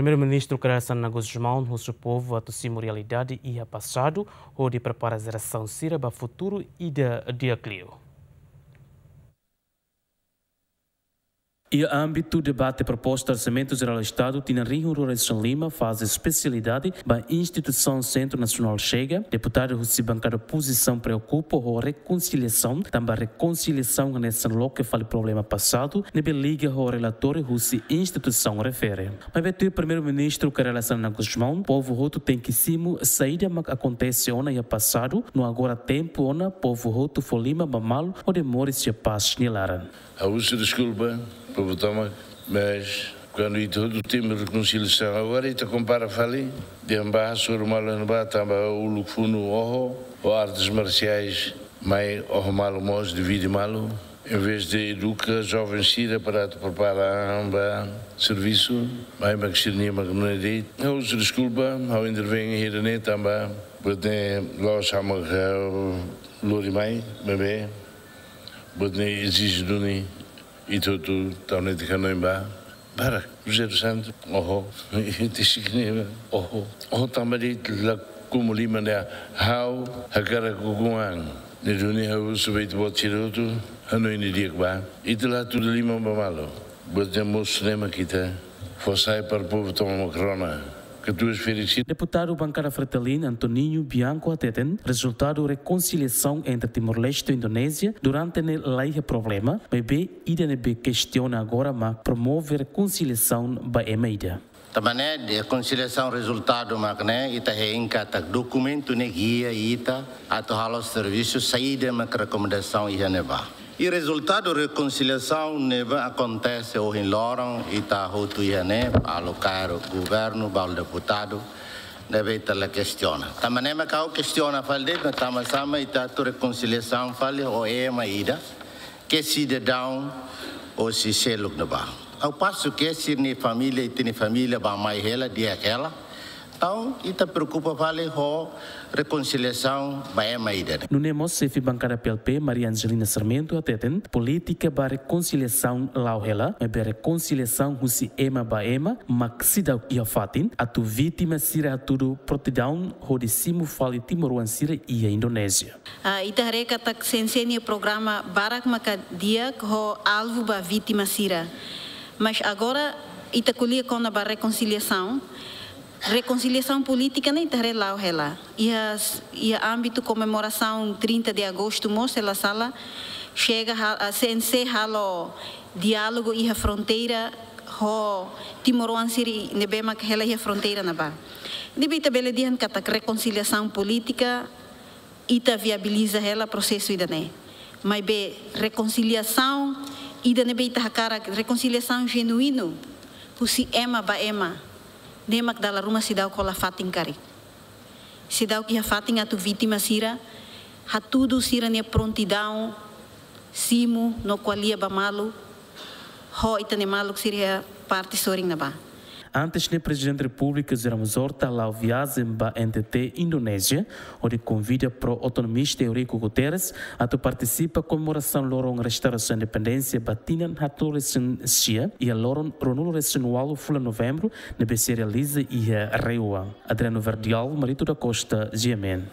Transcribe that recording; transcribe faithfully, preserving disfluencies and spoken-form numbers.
Primeiru-Ministru Kay Rala Xanana Gusmão husu povu atu simu realidade iha pasadu, hodi prepara jerasaun sira ba futuru ida di'ak liu. Iha ámbitu debate proposta Orsamentu Jerál Estadu tinan rihun rua resin lima, faze espesialidade ba instituisaun Sentru Nasionál Chega, deputadu husi bankada opozisaun preokupa ho rekonsiliasaun, tanba rekonsiliasaun hanesan loke fali problema pasadu ne'ebé liga ho relatóriu husi instituisaun refere. Maibé tuir Primeiru-Ministru Kay Rala Xanana Gusmão, povu hotu tenke simu saida mak akontese ona iha pasadu, no agora tempu ona povu hotu fó liman ba malu hodi moris iha pás nia laran. Ha'u husu deskulpa, povu tomak, mas kuandu ita hotu temi rekonsiliasaun, agora ita kompara fali, dehan ba hasoru malu ne'ebá tanba uluk funu oho, ho artes marsiais mai oho malu mós, divide malu. Em vez de eduka joven sira para atu prepara an ba servisu, mai mak sira-nia mak nune'e de'it. Ha'u husu deskulpa, ha'u intervene iha ida-ne'e tanba buat ne'e la'ós ha'u mak lori mai, maibé buat ne'e ezije duni ita hotu tau netik hanoin ba. Barak, José dos Santos, oho, ita signifika, oho, oho tanba de'it la komu liman dehan ha'u hakarak ukun an. Ne'e duni ha'u husu ba ita-boot sira hotu, hanoin didi'ak ba. Ita la hatudu liman ba malu. Buat ne'e mosu ne'e mak ita fó sai para povu tomak rona. Katuas Felix. Deputadu bankada Fretilin Antoninho Bianco hateten, rezultadu rekonsiliasaun entre Timor-Leste ho Indonézia durante ne'e la iha problema, maibé ida ne'ebé kestiona agora mak promove rekonsiliasaun ba ema ida. Tanba ne'e, rekonsiliasaun rezultadu mak ne'e, ita hein katak dokumentu ne'e gia ita atu halo servisu saida mak rekomendasaun iha ne'ebá. I rezultadu rekonsiliasaun ne'ebé akontese ohin loron, ita hotu iha ne'e, Paulo Caro, governu, balu deputadu, ne'ebé ita la kestiona. Tanba ne'e mak ha'u kestiona fali de'it, tanba sá mak ita atu rekonsiliasaun fali ho ema ida ke sidadaun hosi seluk ne'ebá. Ao passo que sira-nia família, ita-nia família bá-mai hela, di'ak hela. Entaun, ita preokupa fali ho rekonsiliasaun ba ema ida-ne'e. Nune'e mós xefe bankada P L P, Maria Angelina Sarmento, hateten, polítika ba rekonsiliasaun la'o hela, maibé rekonsiliasaun husi ema ba ema mak seidauk iha fatin, atu vítima sira hatudu prontidaun hodi simu fali timoroan sira iha Indonézia. Ah, ita haree katak CNC nia programa barak maka di'ak ho alvu ba vítima sira. Mas agora ita ko'alia kona-ba rekonsiliasaun. Rekonsiliasaun polítika ne'e ita haree la'o hela. Iha, iha ámbitu komemorasaun trinta de agosto mós, se la sala, Chega ha-, ah, CNC halo diálogu iha fronteira ho timoroan sira ne'ebé mak hela iha fronteira ne'ebá. Ne'ebé ita bele dehan katak rekonsiliasaun polítika, ita viabiliza hela prosesu ida-ne'e. Maibé rekonsiliasaun ida ne'ebé ita hakarak, rekonsiliasaun jenuínu husi ema ba ema, ne'e mak dala ruma seidauk hola fatin karik. Seidauk iha fatin atu vítima sira hatudu sira-nia prontidaun simu no ko'alia ba malu ho ita-nia maluk sira iha parte sorin ne'ebá. Antes ne'e, Prezidente Repúblika José Ramos Horta hala'o viajen ba N T T Indonézia, hodi konvida pró-autonomista Eurico Guterres atu partisipa komemorasaun loron restaurasaun independénsia ba tinan haatnulu resin sia, iha loron ruanulu resin ualu fulan Novembru, ne'ebé sei realiza iha RAEOA. Adriano Verdial, Marito da Costa, G M N.